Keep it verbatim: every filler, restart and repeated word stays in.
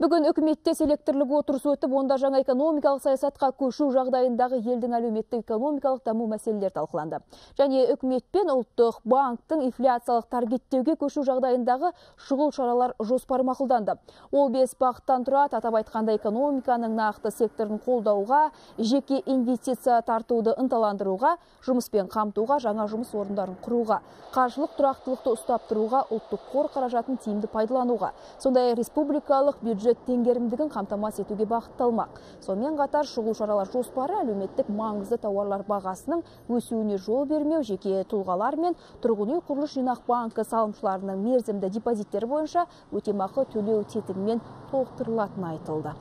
Бүгін үкіметте селекторлық отырысы өтіп, онда жаңа экономикалық саясатқа көшу жағдайындағы елдің әлеуметтік экономикалық даму мәселелері талқыланды. Және үкімет пен ұлттық банктың инфляциялық таргеттеуге көшу жағдайындағы шұғыл шаралар жоспары мақұлданды. Ол бес бағыттан тұрады. Атап айтқанда экономиканың нақты секторын қолдауға, жеке инвестиция тартуды ынталандыруға, жұмыспен қамтуға, жаңа жұмыс орындарын құруға, қаржылық тұрақтылықты ұстап тұруға, ұлттық қор қаражатын тиімді пайдалануға, сондай республикалық бюджет тенгерімдігін қамтамасыз етуге бағытталмақ. Сонымен қатар шұғыл шаралар жоспары әлеуметтік маңызды тауарлар бағасының өсуіне жол бермеу, жеке тұлғалар мен тұрғын үй құрылыс жинақ банкі салымшыларының мерзімді депозиттері бойынша өтемақы төлеу тетігімен толықтырылатыны айтылды.